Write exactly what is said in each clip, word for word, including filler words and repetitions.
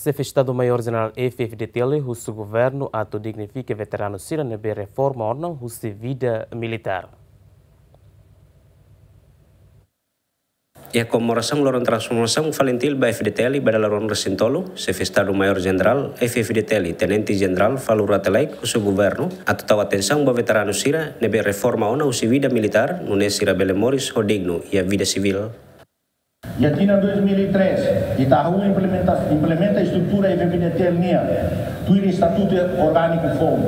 Xefe Estadu Maiór Jenerál F-FDTL husu governu atu dignifika veteranu sira ne'ebé reforma ona husi vida militár. Iha komemorasaun loron transformasaun FALINTIL ba F-FDTL ba dala ruanulu-resin-tolu, Xefe Estadu Maiór Jenerál F-FDTL, Tenente Jenerál Falur Rate Laek husu governu atu tau atensaun ba veteranu sira ne'ebé reforma ona husi vida militár, nune'e sira bele moris ho dignu iha vida sivíl. Iha tinan dois mil e três, ita hahú implementa, implementa estrutura F-FDTL nian, tuir estatutu orgániku foun.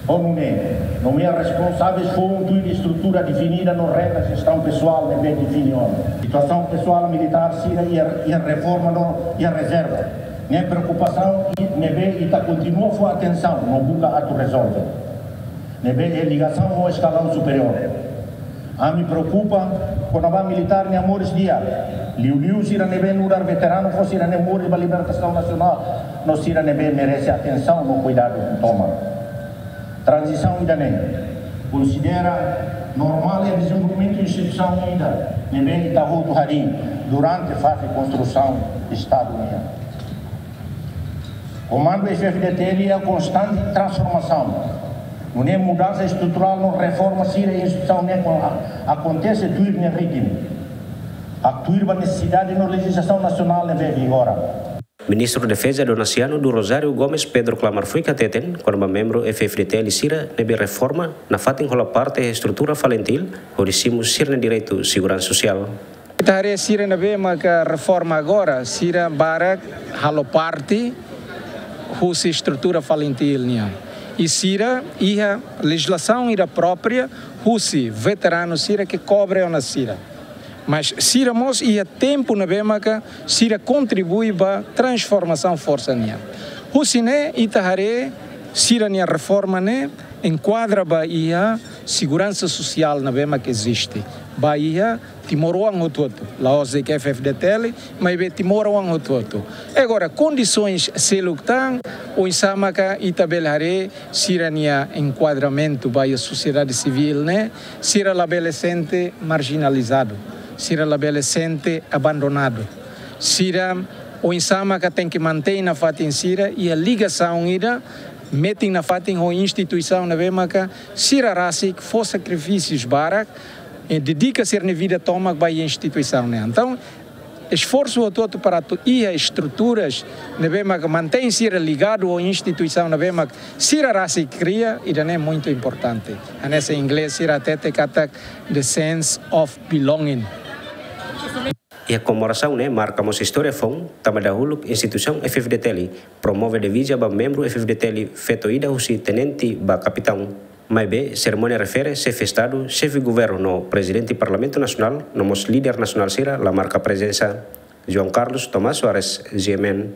Ho nune'e, nomeia responsavel foun tuir estrutura definida no regra jestaun pesoál ne'ebé define ona. Situasaun pesoál militár sira iha, iha reforma no iha rezerva. Ne'e preokupasaun i-, ne'ebé ita kontinua fó atensaun no buka atu rezolve. Ne'ebé iha ligasaun ho eskalaun superiór. Ami preokupa kona-ba militár nia moris di'ak. Liuliu sira ne'ebé nu'udar veteranu fó sira-nia moris ba libertasaun nasionál no sira ne'ebé merese atensaun no kuidadu tomak. Tranzisaun ida-ne'e konsidera normál iha dezenvolvimentu instituisaun ida ne'ebé ita hotu harii durante faze konstrusaun Estadu nian. Komandu F-FDTL iha konstante transformasaun. Nune'e mudansa estruturál no reforma sira iha instituisaun ne'e kon-, a-, akontese tuir nia ritmu. Atu tuir ba nesesidade no lejizlasaun nasionál ne'ebé vigora. Ministru Defeza Donasiano do Rosário Gomes Pedro Klamar Fuik hateten, kona-ba membru F-FDTL sira ne'ebé reforma nafatin hola parte estrutura FALINTIL, hodi simu sira-nia direitu seguransa sosiál. Ita haree sira ne'ebé maka reforma agora, sira barak halo parte husi estrutura FALINTIL nian. I sira iha lejizlasaun ida própria husi veteranu sira ke kobre ona sira. Mas sira mós iha tempu ne'ebé maka sira kontribui ba transformasaun forsa nian. Husi ne'e ita haree sira-nia reforma ne'e enkuadra ba iha seguransa sosiál ne'ebé maka eziste. Ba iha timoroan hotu-hotu. La'ós de'it F-FDTL, maibé timoroan hotu-hotu. Agora, kondisoens seluk tan, oinsá maka ita bele haree sira-nia enkuadramentu ba iha sosiedade sivíl ne'e, sira labele sente marjinalizadu, sira labele sente abandonadu. Sira oinsá maka tenke mantein nafatin sira iha ligasaun ida, metin nafatin ho instituisaun ne'ebé maka sira rasik fó sakrifísius barak, eh, dedika sira-nia vida tomak ba iha instituisaun ne'e. Entaun, esforsu hotu-hotu para atu iha estruturas ne'ebé maka mantein sira ligadu ho instituisaun ne'ebé maka sira rasik kria, ida-ne'e muitu importante. Hanesan inglés sira hatete katak the sense of belonging. Iha komemorasaun ne'e marka mós istória foun, tanba dahuluk instituisaun F-FDTL promove diviza ba membru F-FDTL feto ida husi tenente ba kapitaun. Maibé, serimónia refere xefe Estadu, xefe Governu no Prezidente Parlamentu Nasionál, no mós líder nasionál sira la marka prezensa. João Carlos Tomás Soares, G M N.